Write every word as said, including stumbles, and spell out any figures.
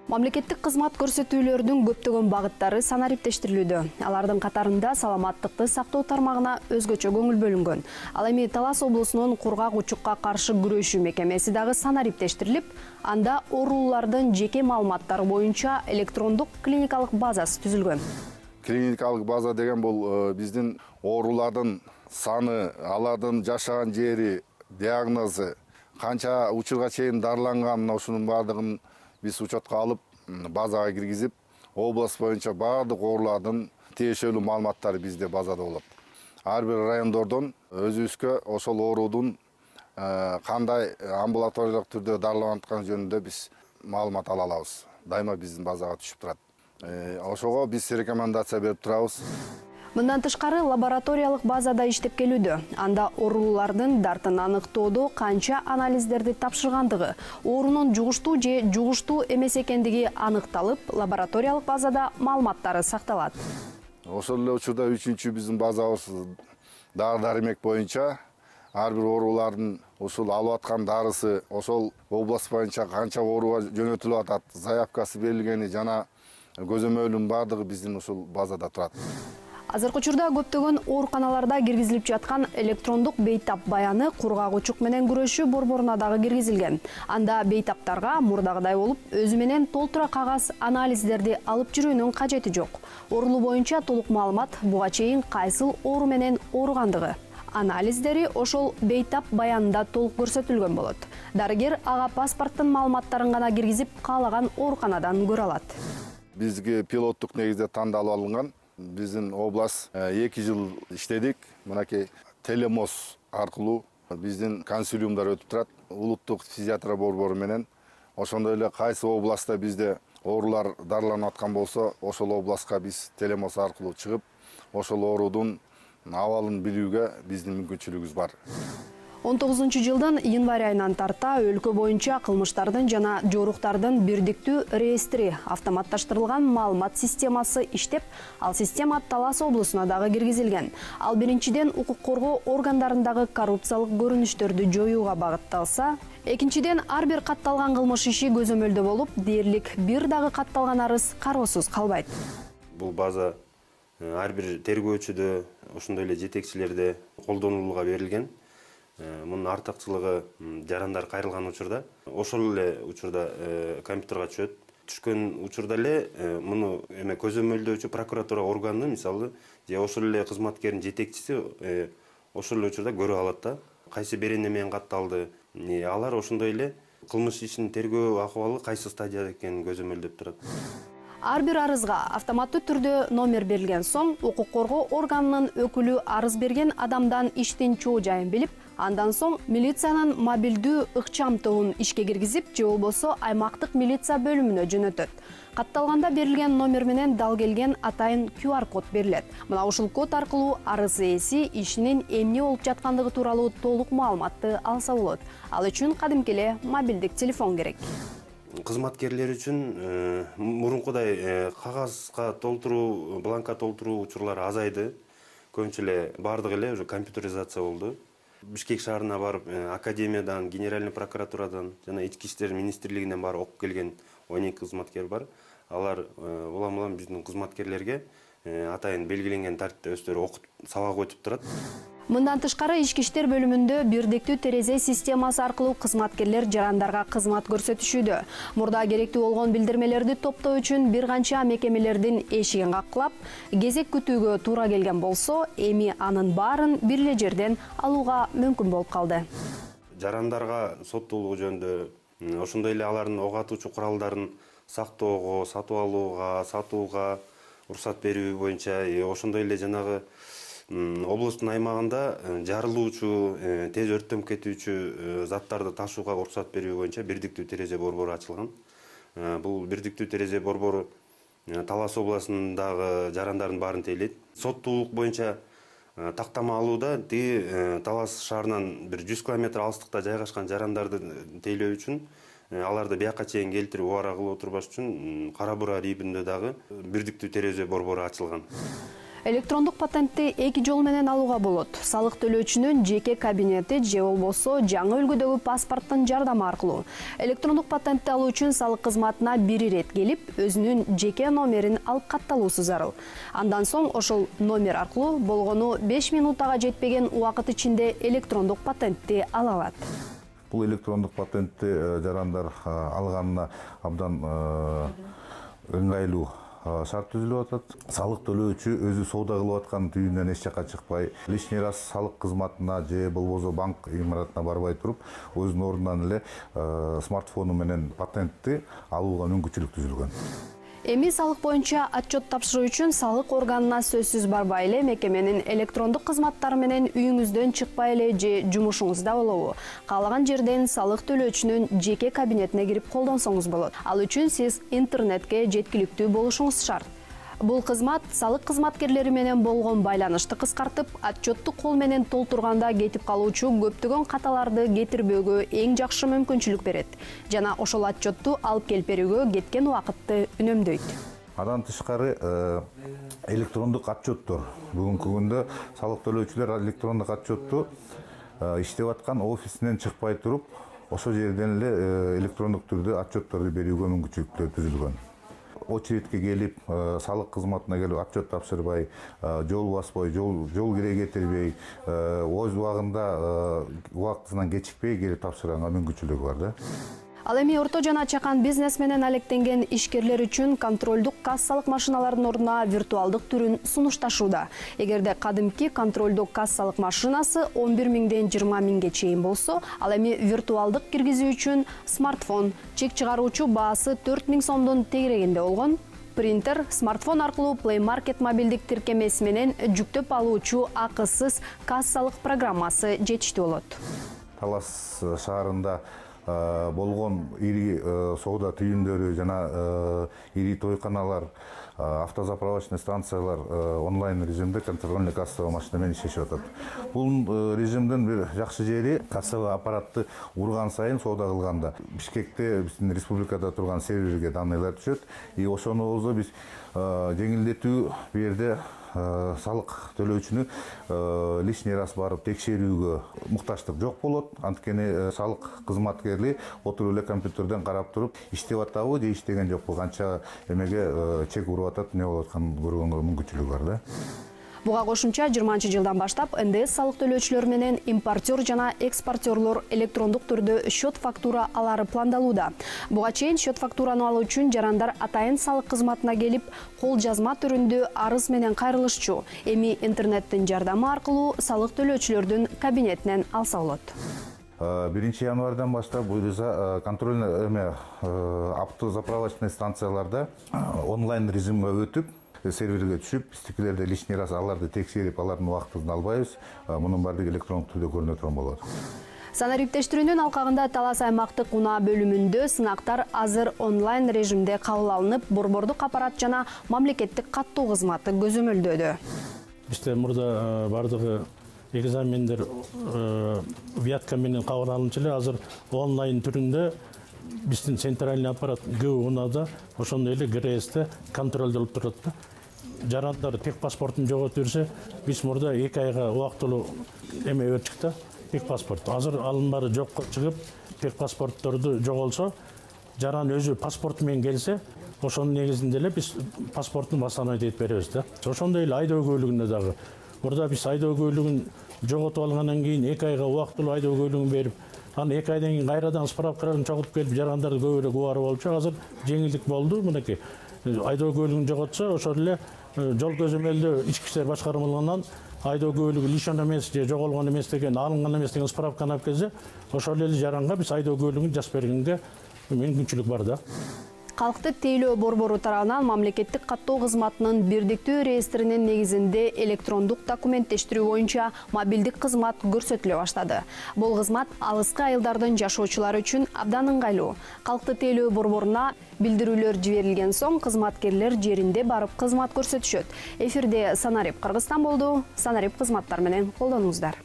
Мамлекеттик кызмат көрсөтүүлөрдүн көптөгөн багыттары санариптештирилүүдө. Алардын катарында саламаттыкты сактоо тармагына өзгөчө көңүл бөлүнгөн. Ал эми Талас облусунун кургак учукка каршы күрөшүү мекемеси дагы санариптештирилип, анда оорулуулардын жеке маалыматтары боюнча электрондук клиникалык базасы түзүлгөн. Клиникалык база деген бул биздин оорулардын саны, алардын жашаган жери, диагнозу, канча учурга чейин дарыланган, ушунун баардыгын биз учетко алып, базага киргизип, область боюнча баардык оорулардын тиешелүү маалыматтары бизде базада болот. Ар бир райондордон өзүбүзгө ошол оорудун кандай амбулаториялык түрдө дарыланып атканы жөнүндө биз маалымат ала алабыз. Дайыма биздин базага түшүп турат. Ошого биз рекомендация берип турабыз. Мындан тышкары лабораториялык базада иштеп келүүдө. Анда оорулуулардын дартын аныктоодо канча анализдерди тапшыргандыгы, оорунун жугуштуу же жугуштуу эмес экендиги аныкталып, лабораториялык базада маалыматтары сакталат. Ошол эле учурда үчүнчү биздин базабыз дары-дармек боюнча ар бир оорулардын ушул алып аткан дарысы, ошол область боюнча канча ооруга жөнөтүлүп атат, заявкасы берилгени жана көзөмөлүнүн баардыгы биздин ушул базада турат. Азыркы учурда көптөгөн ооруканаларда киргизилип жаткан электрондук бейтап баяны кургак учук менен күрөшүү борборуна дагы киргизилген. Анда бейтаптарга мурдагыдай болуп, өзү менен толтура кагаз анализдерди алып жүрүүнүн кажети жок. Оорулуу боюнча толук маалымат буга чейин кайсыл оору менен ооругандыгы, анализдери ошол бейтап баянында толук көрсөтүлгөн болот. Дарыгер ага паспорттун маалыматтарын гана киргизип, каалаган ооруканадан көрө алат. Бизге пилоттук негизде тандалып алынган. Биздин область эки жыл иштедик. Мынакей телемос аркылуу биздин консилиумдар өтүп турат. Улуттук фтизиатрия борбору менен. Ошондой эле кайсы областта бизде оорулар дарыланып аткан болсо, ошол областка биз телемос аркылуу чыгып, ошол оорудун абалын билүүгө биздин мүмкүнчүлүгүбүз бар. он тогузунчу жылдын январь айынан тарта өлкө боюнча кылмыштардын жана жоруктардын бирдиктүү реестри автоматташтырылган маалымат системасы иштеп, ал система Талас облусуна дагы киргизилген. Ал биринчиден укук коргоо органдарындагы коррупциялык көрүнүштөрдү жоюуга багытталса, экинчиден ар бир катталган кылмыш иши көзөмөлдө болуп, дээрлик бир дагы катталган арыз кароосуз калбайт. Бул база ар бир тергөөчүдө, ошондой эле жетекчилерде колдонулууга берилген. Мунун артыкчылыгы жарандар кайрылган учурда, ошол эле учурда компьютерге түшөт. Түшкөн учурда эле муну эме көзөмөлдөөчү прокуратура органы, мисалы, же ошол эле кызматкердин жетекчиси ошол эле учурда көрө алат да. Кайсы берене менен катталды. Алар ошондой эле кылмыш ишинин тергөө акыбалы кайсы стадияда экенин көзөмөлдөп турат. Ар бир арызга автоматтуу түрдө номер берилген соң, укук коргоо органынын өкүлү арыз берген адамдан иштин чоо жайын билип, андан соң милициянын мобилдүү ыкчам тобун ишке киргизип, же болбосо аймактык милиция бөлүмүнө жөнөтөт. Катталганда берилген номер менен дал келген атайын ку ар код берилет. Мына ушул код аркылуу арыз ээси ишинин эмне болуп жаткандыгы тууралуу толук маалыматты алса болот. Ал үчүн кадимки эле мобилдик телефон керек. Кызматкерлер үчүн мурункудай кагазга толтуруу, бланка толтуруу учурлары азайды. Көбүнчө эле бардыгы эле уже компьютеризация болду. Бишкек шаарына барып, академиядан, генеральный прокуратурадан жана ички иштер министрлигинен барып окуп келген он эки кызматкер бар. Алар улам-улам биздин кызматкерлерге атайын белгиленген тартипте өздөрү окуп, сабак өтүп турат. Мындан тышкары ички иштер бөлүмүндө бирдиктүү терезе системасы аркылуу кызматкерлер жарандарга кызмат көрсөтүшүүдө. Мурда керектүү болгон билдирмелерди топтоо үчүн бир канча мекемелердин эшигин каклап, кезек күтүүгө туура келген болсо, эми анын баарын бир эле жерден алууга мүмкүн болуп калды. Жарандарга соттуулугу жөнүндө, ошондой эле алардын ок атуучу куралдарын сактоого, сатып алууга, сатууга уруксат берүү боюнча, ошондой эле жанагы облустун аймагында жарылуучу, тез өрттөнүп кетүүчү заттарды ташууга уруксат берүү боюнча бирдиктүү терезе борбору ачылган. Бул бирдиктүү терезе борбору Талас областындагы жарандардын баарын тейлейт. Соттуулук боюнча тактама алууда тиги Талас шаарынан бир жүз километр алыстыкта жайгашкан жарандарды тейлөө үчүн, аларды бияка чейин келтирип убара кылып отурбаш үчүн Кара Бура районунда дагы бирдиктүү терезе борбору ачылган. Электрондук патентти эки жол менен алууга болот. Салык төлөөчүнүн жеке кабинети же болбосо жаңы үлгүдөгү паспорттун жардамы аркылуу. Электрондук патентти алуу үчүн салык кызматына бир ирет келип, өзүнүн жеке номерин алып катталуусу зарыл. Андан соң ошол номер аркылуу болгону беш минутага жетпеген убакыт ичинде электрондук патентти ала алат. Бул электрондук патентти жарандар алганына абдан ыңгайлуу шарт түзүлүп атат. Салык төлөөчү өзү соода кылып аткан түйүнөн эч жакка чыкпай, лишний раз салык кызматына же болбосо банк имаратына барбай туруп, өзүнүн ордунан эле смартфону менен патентти алууга мүмкүнчүлүк түзүлгөн. Эми салык боюнча отчет тапшыруу үчүн салык органына сөзсүз барбай эле мекеменин электрондук кызматтары менен үйүңүздөн чыкпай эле же жумушуңузда болобу, каалаган жерден салык төлөөчүнүн жеке кабинетине кирип колдонсоңуз болот. Ал үчүн сиз интернетке жеткиликтүү болушуңуз шарт. Бул кызмат салык кызматкерлери менен болгон байланышты кыскартып, отчетту кол менен толтурганда кетип калуучу көптөгөн каталарды кетирбөөгө эң жакшы мүмкүнчүлүк берет жана ошол отчетту алып келип берүүгө кеткен убакытты үнөмдөйт. Андан тышкары электрондук отчеттор. Бүгүнкү күндө салык төлөөчүлөр электрондук отчетту иштеп аткан офисинен чыкпай туруп, ошол жерден эле электрондук түрдө отчетторду берүүгө мүмкүнчүлүктөр түзүлгөн. Очередке келип, салык кызматына келип отчет тапшырбай, жол баспай, жол жол кире кетирбей, өз убагында убактысынан кечикпей келип тапшырганга мүмкүнчүлүгү бар да. Ал эми орто жана чакан бизнес менен алектенген ишкерлер үчүн контролдук кассалык машиналардын ордуна виртуалдык түрүн сунушташууда. Эгерде кадимки контролдук кассалык машинасы он бир миңден жыйырма миңге чейин болсо, ал эми виртуалдык киргизүү үчүн смартфон, чек чыгаруучу баасы төрт миң сомдун тегерегинде болгон. Принтер, смартфон аркылуу Play Market мобилдик тиркемеси менен жүктөп алуучу акысыз кассалык программасы жетиштүү болот. Талас шаарында болгон ири соода түйүндөрү жана ири тойканалар, автозаправочный станциялар онлайн режимде контрольный кассовый машина менен иштешип атат. Бул режимдин бир жакшы жери кассовый аппаратты урган сайын соода кылганда Бишкекте биздин республикада турган серверге данныйлар түшөт. И ошону биз жеңилдетүү бу жерде салык төлөөчүнү лишний раз барып текшерүүгө муктачтык жок болот. Анткени салык кызматкери отуруп эле компьютерден карап туруп, иштеп атабы же иштеген жокпу, канча эмеге чек уруп атат, эмне болуп атканын көргөнгө мүмкүнчүлүгү бар да. Буга кошумча жыйырманчы жылдан баштап эн дэ эс салык төлөөчүлөр менен импортер жана экспортерлор электрондук түрдө счет фактура алары пландалууда. Буга чейин счет фактураны алуу үчүн жарандар атайын салык кызматына келип, кол жазма түрүндө арыз менен кайрылышчу. Эми интернеттин жардамы аркылуу салык төлөөчүлөрдүн кабинетинен алса болот. биринчи январдан баштап буюрса контрольный эме автозаправочный станцияларда онлайн режимге өтүп, серверге түшүп, биздикилерде лишний раз аларды текшерип, алардын убактысын албайбыз. Мунун баардыгы электрондук түрдө көрүнө турган болот. Санариптештирүүнүн алкагында Талас аймактык унаа бөлүмүндө сынактар азыр онлайн режимде кабыл алынып, борбордук аппарат жана мамлекеттик каттоо кызматы көзөмөлдөөдө. Бизде мурда баардыгы экзамендер вятка менен кабыл алынчу эле, азыр онлайн түрүндө биздин центральный аппарат көп унаада ошондой эле гэ эр эсте контролдолуп турат да. Жарандар тек паспортун жоготуп жүрсө, биз мурда эки айга убактылуу эме өттүк да, тек паспорт. Азыр алын баары жокко чыгып, тек паспортторду жоголсо, жаран өзү паспорту менен келсе, ошонун негизинде эле биз паспортун восстановить этип беребиз да. Ошондой эле айдоо көлүгүндө дагы. Мурда биз айдоо көлүгүн жоготуп алгандан кийин эки айга убактылуу айдоо көлүгүн берип, анан эки айдан кийин кайрадан справкаларын чогултуп келип жарандарды көбүрөөк убары болчу. Азыр жеңилдик болду. Мынакей айдоо көлүгүн жоготсо, ошол эле жол көзөмөлдөө ички иштер башкармалыгынан айдоо көлүгү лишен эмес же жоголгон эмес деген, алынган эмес деген справканы алып келсе, ошол эле жаранга биз айдоо көлүгүн жазып бергенге мүмкүнчүлүк бар да. Калкты тейлөө борбору тарабынан мамлекеттик каттоо кызматынын бирдиктүү реестринин негизинде электрондук документтештирүү боюнча мобилдик кызмат көрсөтүлө баштады. Бул кызмат алыскы айылдардын жашоочулары үчүн абдан ыңгайлуу. Калкты тейлөө борборуна билдирүүлөр жиберилген соң кызматкерлер жеринде барып кызмат көрсөтүшөт. Эфирде Санарип Кыргызстан болду. Санарип кызматтар менен колдонуңуздар.